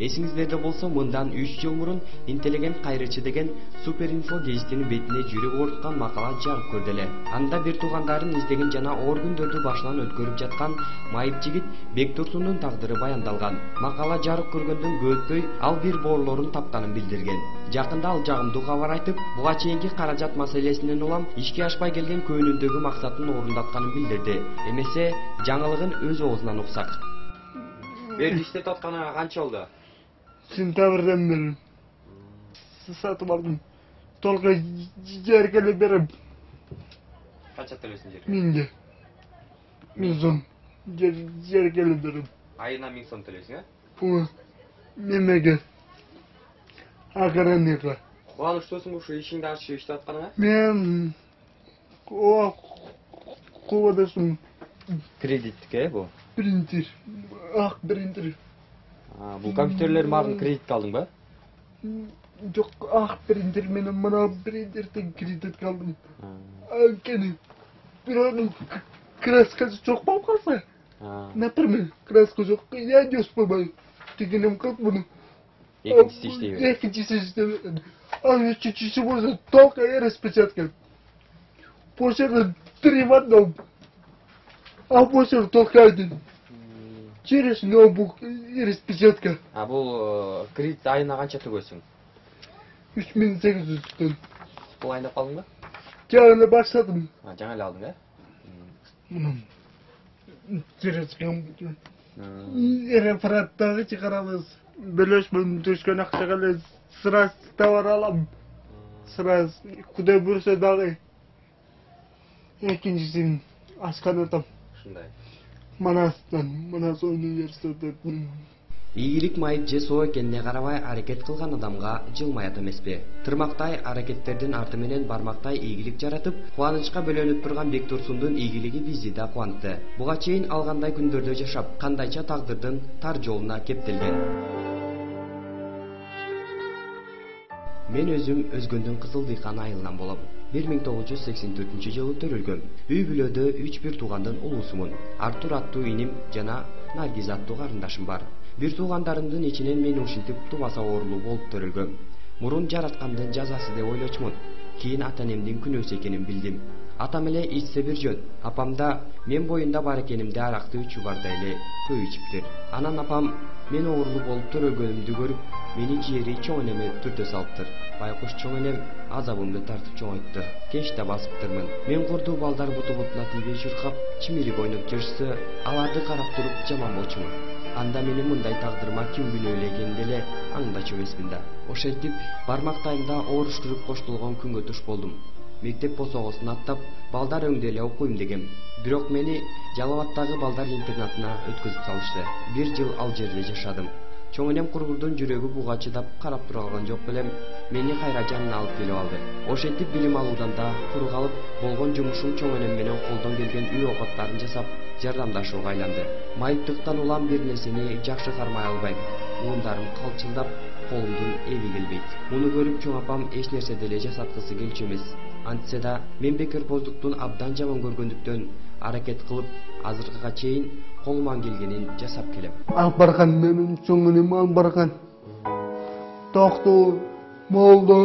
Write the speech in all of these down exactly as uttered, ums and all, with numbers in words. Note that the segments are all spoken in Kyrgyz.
Эсиңиздерде болсо, мындан үч жыл мурун интеллигент кайрычы деген Супер Инфо гезитинин бетине жүрөк ооруткан макала жарык көрдү эле. Анда бир туугандарын издеген жана оор күндөрдү башынан өткөрүп жаткан майып жигит Бектурсундун тагдыры баяндалган. Макала жарык көргөндөн көп өтпөй ал бир боорлорун тапканын билдирген. Жакында ал жагымдуу кабар айтып, буга чейинки каражат маселесинен улам ишке ашпай келген көңүлүндөгү максатын орундатканын билдирди. Эмесе, жаңылыгын өз оозунан уксак. Бер иштеп атканыңа канча болду? Сентябрдан бери сатып алдым. Толкой жерге эле берем. Канча төлөсүң жерге? Миңге. Миң сом. Жерге эле берем. Айына миң сом төлөйсүң, э? Бу немеге? Охранника. Кубанычтуусуңбу ушу ишиңди ачып иштеп атканыңа? Мен о кубанычым. Кредиттик, э, бу? Принтер. Ак принтер. А, бул компьютерлердин баарын кредитке алдыңбы? Жок, ак принтер менен мына принтерден кредитке алдым. Анткени бирөөнүн краскасы жок болуп калса, например, краска жок, я не успеваю. Дегеним калп муну. Экинчиси иштей берет. Экинчиси иштей берет. А үчүнчүсү болсо только распечатка. Почерк три в одном. А почерк только один. Через ноутбук и распечатка. А бул кредит айына канча төлөйсүң? үч миң сегиз жүз сом. Бул айнап калдыңбы? Жаңы баштадым. А, жаңы эле алдың, э? Через компьютер. Рефераттагы чыгарабыз. Бөлөшмөн түшкөн акчага эле сразу товар алам. Сразу кудай буйруса дагы экинчисин ашканатам. Ушундай. Манастан, Манас университетинен. Ийгилик майып же соо экенине карабай аракет кылган адамга жылмаят эмеспи? Тырмактай аракеттердин арты менен бармактай ийгилик жаратып, кубанычка бөлөнүп турган Бектурсундун ийгилиги бизди да кубантты. Буга чейин ал кандай күндөрдө жашап, кандайча тагдырдын тар жолуна кептелген. Мен өзүм Өзгөндүн Кызыл Дыйкан айылынан болом. бир миң тогуз жүз сексен төртүнчү жылы төрөлгөм. Үй бүлөдө үч бир туугандын улуусумун. Артур аттуу иним жана Наргиз аттуу карындашым бар. Бир туугандарымдын ичинен мен ушинтип тубаса оорулуу болуп төрөлгөм. Мурун жараткандын жазасы деп ойлочумун. Кийин ата-энемдин күнөөсү экенин билдим. Атам эле ичсе бир жөн, апам да мен боюнда бар экенимди аракты үчү барда эле көп ичиптир. Анан апам мен оорулуу болуп төрөлгөнүмдү көрүп, мени жери чоң энеме түртө салыптыр. Байкуш чоң энем азабымды тартып чоңойтты. Кеч да басыптырмын. Мен курдуу балдар буту бутуна тийбей чуркап, чимирип ойноп жүрсө, аларды карап туруп жаман болчумун. Анда менин мындай тагдырыма ким күнөөлүү экенин деле аңдачу эмесмин да. Ошентип бармактайымда ооруштуруп коштолгон күнгө туш болдум. Мектеп босогосун аттап, балдар өңдө эле окуйм дегем. Бирок мени Жалал абаддагы балдар интернатына өткөзүп салышты. Бир жыл ал жерде жашадым. Чоң энем кургурдун жүрөгү буга чыдап карап тура алган жок белем, мени кайра жанына алып келип алды. Ошентип билим алуудан да куру калып, болгон жумушум чоң энем менен колдон келген үй окоттарын жасап, жардамдашууга айланды. Майыптыктан улам бир нерсени жакшы кармай албайм. Уундарым калчылдап, колумдун эби келбейт. Муну көрүп чоң апам эч нерсе деле жасаткысы келчү эмес. Антсе да мен бекербоздуктун абдан жаман көргөндүктөн аракет кылып, азыркыга чейин колуман келгенин жасап келем. Алып барган менин чоң энем алып барган. Токтоо, молдо,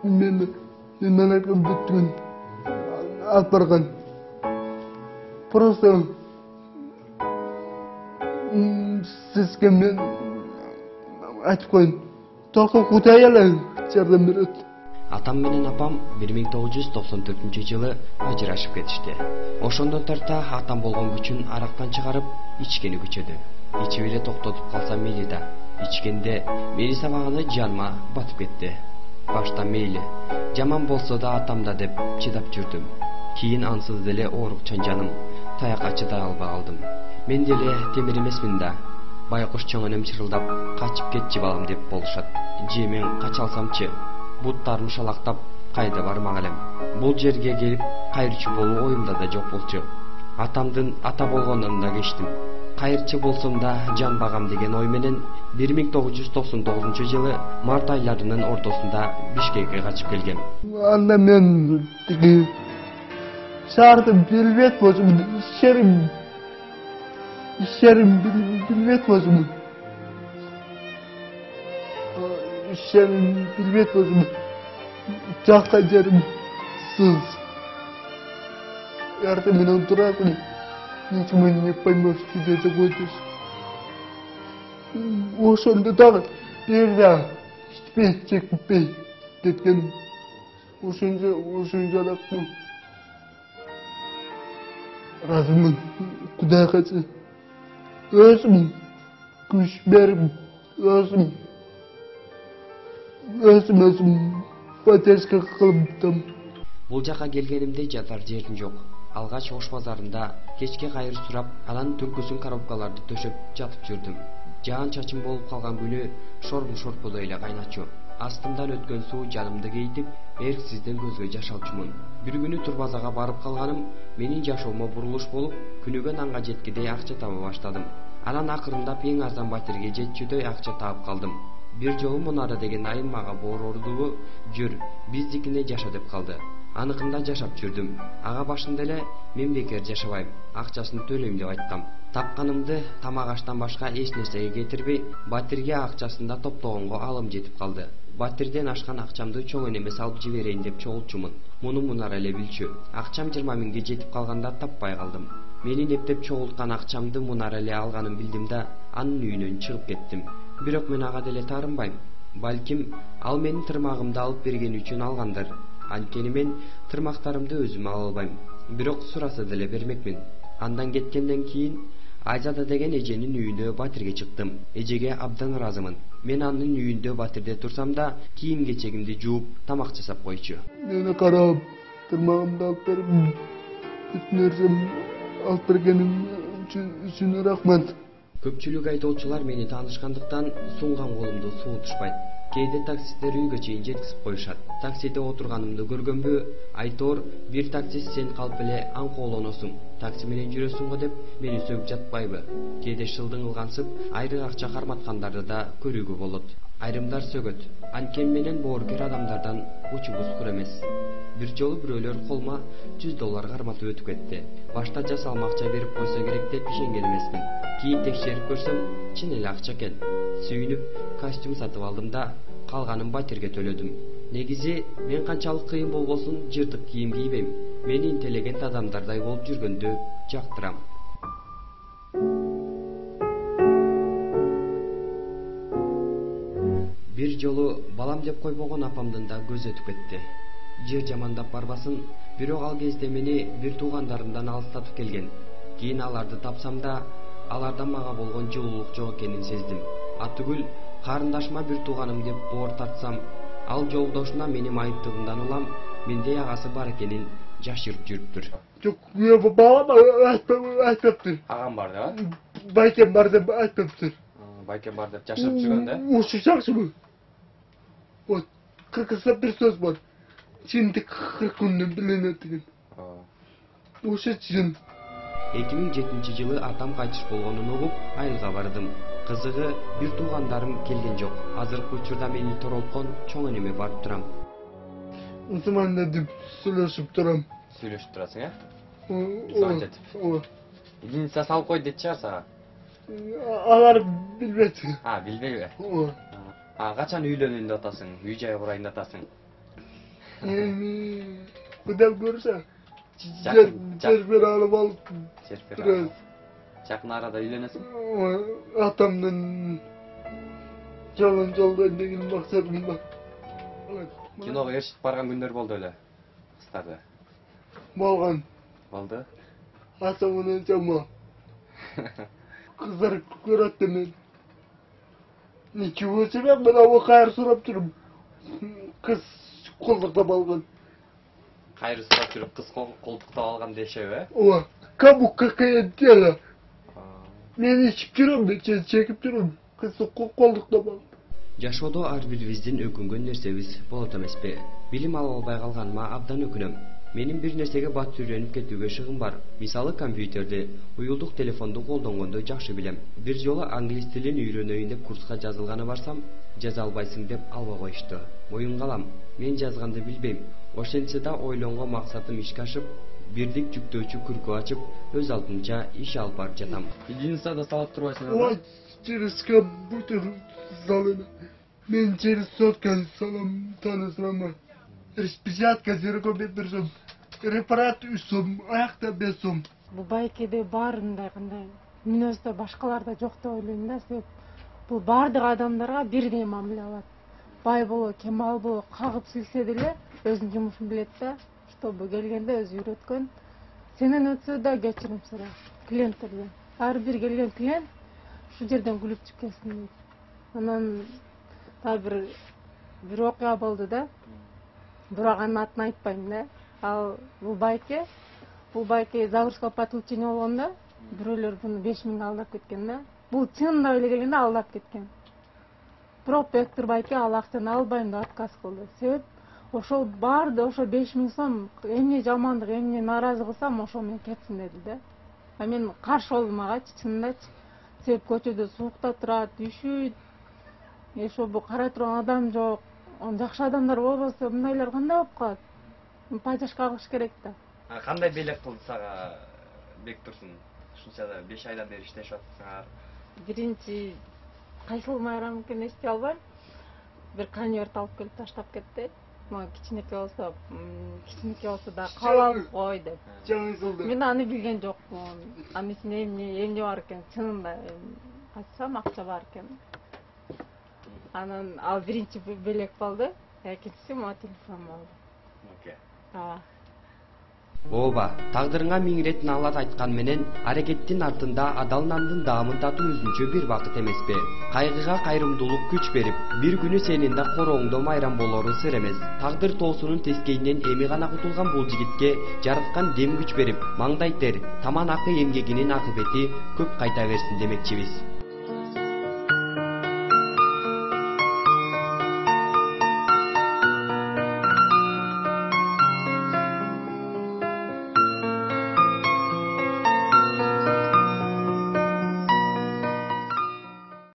мен мен акым бүттүн. Алып барган. Просто сизге мен айтып коеюн. Только Кудай эле жардам берет. Атам менен апам бир миң тогуз жүз токсон төртүнчү жылы ажырашып кетишти. Ошондон тарта атам болгон күчүн арактан чыгарып, ичкени күчөдү. Ичип эле токтотуп калса мейли да. Ичкенде мени сабаганы жаныма батып кетти. Башта мейли, жаман болсо да атам да деп чыдап жүрдүм. Кийин ансыз деле оорукчан жаным, таякка чыдай албай калдым. Мен деле темир эмесмин да. Байкуш чоң энем чырылдап, качып кетчи балам деп болушат. Же мен кача алсамчы? Буттарым шалактап, кайда бармак элем. Бул жерге келип кайрчы болуу оюмда да жок болчу. Атамдын ата болгондон да кечтим. Кайрчы болсом да жан багам деген ой менен бир миң тогуз жүз токсон тогузунчу жылы март айларынын ортосунда Бишкекке качып келгем. Анда мен тиги шаарды билбейт болчумун, ишерим ишерим билбейт болчумун. ишенин билбейт болсом жаккан жерим сыз. Ярты менен турасың. Ничего не поймешь, тебе загодишь. Ошондо дагы берда иштебей, чекпей кеткеним. Ошончо ошончо арактын. Разымын, Кудай качы. Өзүм күч берип, өзүм өзүм өзүм поддержка кылыптым. Бул жака келгенимде жатар жерим жок. Алгач Ош базарында кечке кайыр сурап, анан түнкүсүн коробкаларды төшөп жатып жүрдүм. Жаан чачым болуп калган күнү шорбум шорподой эле кайначу. Астымдан өткөн суу жанымды кейтип, эрксизден көзгө жаш алчумун. Бир күнү турбазага барып калганым менин жашоомо бурулуш болуп, күнүгө нанга жеткидей акча таба баштадым. Анан акырындап эң арзан батирге жетчүдөй акча таап калдым. Бир жолу Мунара деген айым мага борордугу жүр, биздикине жаша деп калды. Аныкында жашап жүрдүм. Ага башында эле мен бекер жашабайм, акчасын төлөйм деп айткам. Тапканымды тамак аштан башка эч нерсеге кетирбей, батирге акчасын да топтогонго алым жетип калды. Батирден ашкан акчамды чоң энеме салып жиберейин деп чогулчумун. Муну Мунара эле билчү. Акчам жыйырма миңге жетип калганда таппай калдым. Менин эптеп чогулткан акчамды Мунара эле алганын билдим да, анын үйүнөн чыгып кеттим. Бирок мен ага деле таарынбайм. Балким ал менин тырмагымды алып берген үчүн алгандыр. Анткени мен тырмактарымды өзүм ала албайм. Бирок сураса деле бермекмин. Андан кеткенден кийин Айзада деген эженин үйүнө батирге чыктым. Эжеге абдан ыраазымын. Мен анын үйүндө батирде турсам да, кийим кечегимди жууп, тамак жасап койчу. Мени карап, тырмагымды алып берип, бүт нерсемди алып бергениң үчүн рахмат. Көпчүлүк айдоочулар мени таанышкандыктан сунган колумду суутушпайт. Кээде таксисттер үйгө чейин жеткизип коюшат. Таксиде отурганымды көргөнбү, айтор, бир таксист сен калп эле аңкоолоносуң, такси менен жүрөсүң го деп мени сөгүп жатпайбы? Кээде шылдың ылгансып, айры акча карматкандарды да көрүүгө болот. Айрымдар сөгөт. Анткени менен боорукер адамдардан учубуз кур эмес. Бир жолу бирөөлөр колума жүз доллар карматып өтүп кетти. Башта жасалма акча берип койсо керек деп ишенген эмесмин. Кийин текшерип көрсөм, чын эле акча экен. Сүйүнүп, костюм сатып алдым да, калганын батирге төлөдүм. Негизи мен канчалык кыйын болбосун жыртык кийим кийбейм. Мени интеллигент адамдардай болуп жүргөндү жактырам. Бир жолу балам деп койбогон апамдын да көзү өтүп кетти. Жер жамандап барбасын, бирок ал кезде мени бир туугандарымдан алыстатып келген. Кийин аларды тапсам да, алардан мага болгон жылуулук жок экенин сездим. Атүгүл карындашыма бир тууганым деп боор тартсам, ал жолдошуна менин айыптыгымдан улам, мендей агасы бар экенин жашырып жүрүптүр. Жок, балам айтпаптыр. Агам бар деп? Байкем бар деп айтпаптыр. Байкем бар деп жашырып жүргөн да? Ушу жакшыбы? Вот, кыргызда бир сөз бар. Чындык кырк күндө билинет деген. Ошо чын. эки миң жетинчи жылы атам кайтыш болгонун угуп, айылга бардым. Кызыгы, бир туугандарым келген жок. Азыркы учурда мени торолткон чоң энеме барып турам. Усманда деп сүйлөшүп турам. Сүйлөшүп турасың, э? Ооба. Ооба. Единица салып кой дейт чыгар сага. Алар билбейт. А, билбейби? Ооба. А, качан үйлөнөйүн деп атасың? Үй жай курайын деп атасың? Эми Кудай көрсө, жер жер бер алып алып. Жер бер алып. Жакын арада үйлөнөсүң? Атамдын жолун жолдойн деген максатым бар. Киного ээрчитип барган күндөр болду эле. Кыздарды. Болгон. Болду. Ата менен жама. Кыздар көрөт мен. Ничего себе, мен ава кайыр сурап жүрүм. Кыз колдуктап алган. Кайыр сурап жүрүп кыз колдуктап алган дешеби, э? Ооба. Кому какая дело? Мен ичип жүрөм, мен чекип жүрөм. Кыз колдуктап алган. Жашоодо ар бирибиздин өкүнгөн нерсебиз болот эмеспи? Билим ала албай калганыма абдан өкүнөм. Менин бир нерсеге бат үйрөнүп кетүүгө шыгым бар. Мисалы компьютерди, уюлдук телефонду колдонгонду жакшы билем. Бир жолу англис тилин үйрөнөйүн деп курска жазылганы барсам, жаза албайсың деп албай коюшту. Моюнга алам, мен жазганды билбейм. Ошентсе да ойлонгон максатым ишке ашып, бирдик жүктөөчү күркү ачып, өз алдымча иш алып барып жатам. Единицада салып турбайсың, Ой, через компьютер залына. Мен через сотка салам танысырама. Распечатка зерго бет бир сом. Репарат үч сом, аякта беш сом. Бул байкеде бар мындай кандай мүнөздө башкаларда жок деп ойлойм да. Себеп бул баардык адамдарга бирдей мамиле алат. Бай боло, кемал боло, кагып силсе деле өзүнүн жумушун билет да. Чтобы келгенде өзү үйрөткөн. Сенен өтсө да кечирим сурайт клиенттерден. Ар бир келген клиент ушул жерден күлүп чыгып келсин дейт. Анан дагы бир бир окуя болду да. Бирок анын атын айтпайм да. Ал бул байке, бул байке Загурского подключения болгондо бирөөлөр буну беш миңге алдап кеткен да. Бул чынында эле келгенде алдап кеткен. Бирок Бектур байке ал акчаны албайм деп отказ кылды. Себеп ошол барды, ошо беш миң сом эмне жамандык, эмне нааразы кылсам, ошол менен кетсин деди да. А мен каршы болдум агачы, чынындачы. Себеп көчөдө суукта турат, үшүйт. Ошо бул карай турган адам жок. Жакшы адамдар болбосо мындайлар кандай болуп калат? Поддержка кылыш керек да. Кандай белек кылды сага Бектурсун? Ушунча беш айдан бери иштешип атсыңар. Биринчи кайсыл майрам экенин эстей албайм. Бир конверт алып келип таштап кетти. Мага кичинекей болсо, кичинекей болсо да кабыл алып кой деп. Жаңы Мен аны билген жокмун. Анын ичинде эмне эмне бар экен, чынында качсам акча бар экен. Анан ал биринчи белек болду, экинчиси моя телефон болду. Окей. Ооба. Ооба, тагдырыңа миң ирет наалат айткан менен аракеттин артында адал нандын даамын татуу өзүнчө бир бакыт эмеспи? Кайгыга кайрымдуулук күч берип, бир күнү сенин да корооңдо майрам болору сыр эмес. Тагдыр тоосунун тескейинен эми гана кутулган бул жигитке жарыткан дем күч берип, маңдай тер, таман акы эмгегинин акыбети көп кайта берсин демекчибиз.